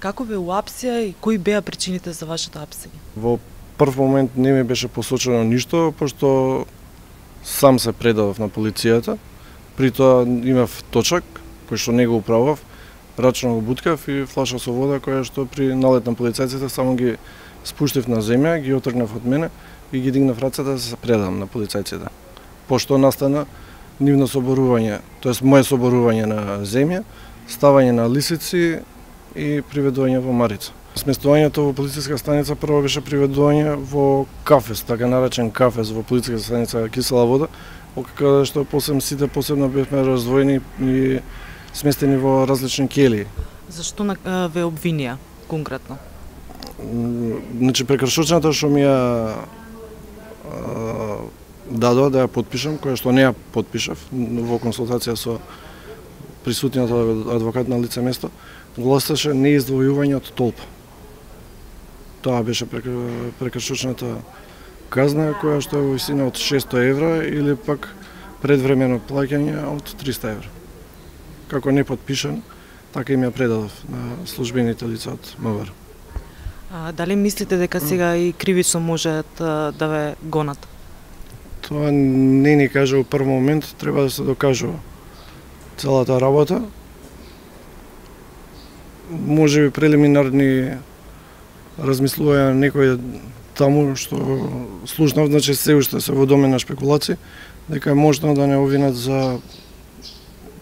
Како ве уапсија и кои беа причините за вашето апсење? Во прв момент не ми беше посочено ништо, пошто сам се предадов на полицијата. При тоа имав точак, кој што не го управав, рачно го буткав и флаша со вода, која што при налет на полицајците само ги спуштив на земја, ги отргнав од мене и ги дигнав рацете да се предам на полицајците. Пошто настана нивно соборување, тоест моје соборување на земја, ставање на лисици и приведување во Марица. Сместувањето во полициска станица прво беше приведување во кафес, така наречен кафес во полициска станица Кисела вода, каде што сите посебно бевме раздвоени и сместени во различни келии. Зашто ве обвинија конкретно? Значи прекршочната што ми ја дадоа да ја подпишам, која што не ја подпишав во консултација со присутниот адвокат на лице место, гласеше неиздвојување од толпа. Тоа беше прекршочната казна, која што е во висина од 600 евра или пак предвремено плаќање од 300 евра. Како не подпишан, така им ја предадов на службените лица од МВР. Дали мислите дека сега и кривично можат да ве гонат? Тоа не ни кажа во прв момент, треба да се докажува целата работа. Може би прелиминарни размислувања некој таму што слушнав, значи се уште се во домен на шпекулации, дека е можно да не обвинат за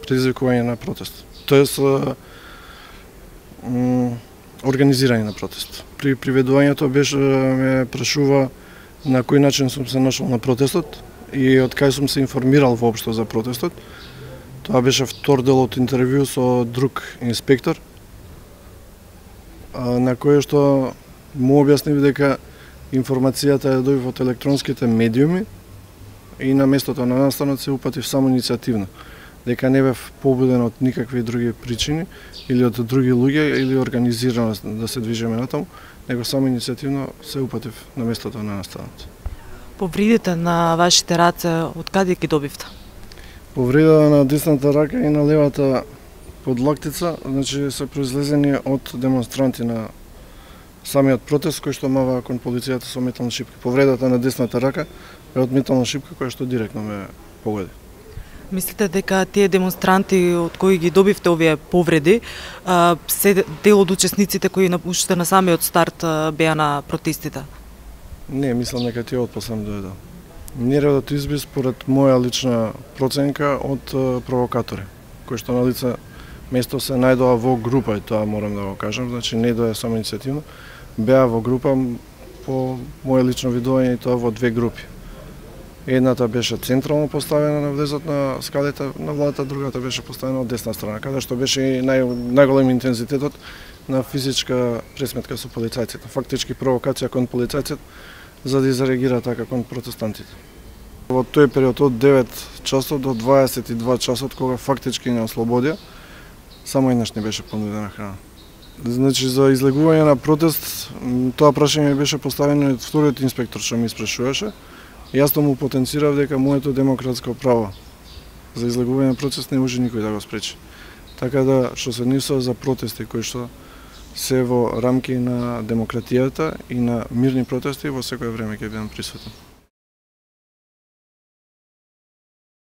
предизвикување на протест. Тоест организирање на протест. При приведувањето беше ме прашува на кој начин сум се нашол на протестот и од кај сум се информирал воопшто за протестот. Тоа беше втор дел од интервју со друг инспектор, на кој што му објаснив дека информацијата ја добив од електронските медиуми и на местото на настанот се упатив само иницијативно, дека не бев побуден од никакви други причини или од други луѓе или организирано да се движиме натаму, него само иницијативно се упатив на местото на настанот. Повредите на вашите раце од каде ги добивте? Повреда на десната рака и на левата подлактица, значи се произлезени од демонстранти на самиот протест кој што мава кон полицијата со метална шипка. Повредата на десната рака е од метална шипка која што директно ме погоди. Мислите дека тие демонстранти од кои ги добивте овие повреди се дел од учесниците кои уште на самиот старт беа на протестите? Не, мислам дека тие отпослем дојдоа. Нередот изби според моја лична проценка од провокатори, кои што на лице место се најдоа во група, и тоа морам да го кажам, значи не доја само иницијативно, беа во група по моје лично видување и тоа во две групи. Едната беше централно поставена на влезот на скалите на владата, другата беше поставена од десна страна, каде што беше и најголем интензитетот на физичка пресметка со полицајците, фактички провокација кон полицајците за да изреагира така кон протестантите. Во тој период од 9 часот до 22 часот, кога фактички не ослободија, само еднаш не беше понудена храна. Значи, за излегување на протест, тоа прашање беше поставено од вториот инспектор што ми испрашуваше. Јас му потенцирав дека моето демократско право за излегување на протест не може никој да го спречи. Така да, што се однесува за протести кои што се во рамки на демократијата и на мирни протести, во секое време ќе бидам присутен.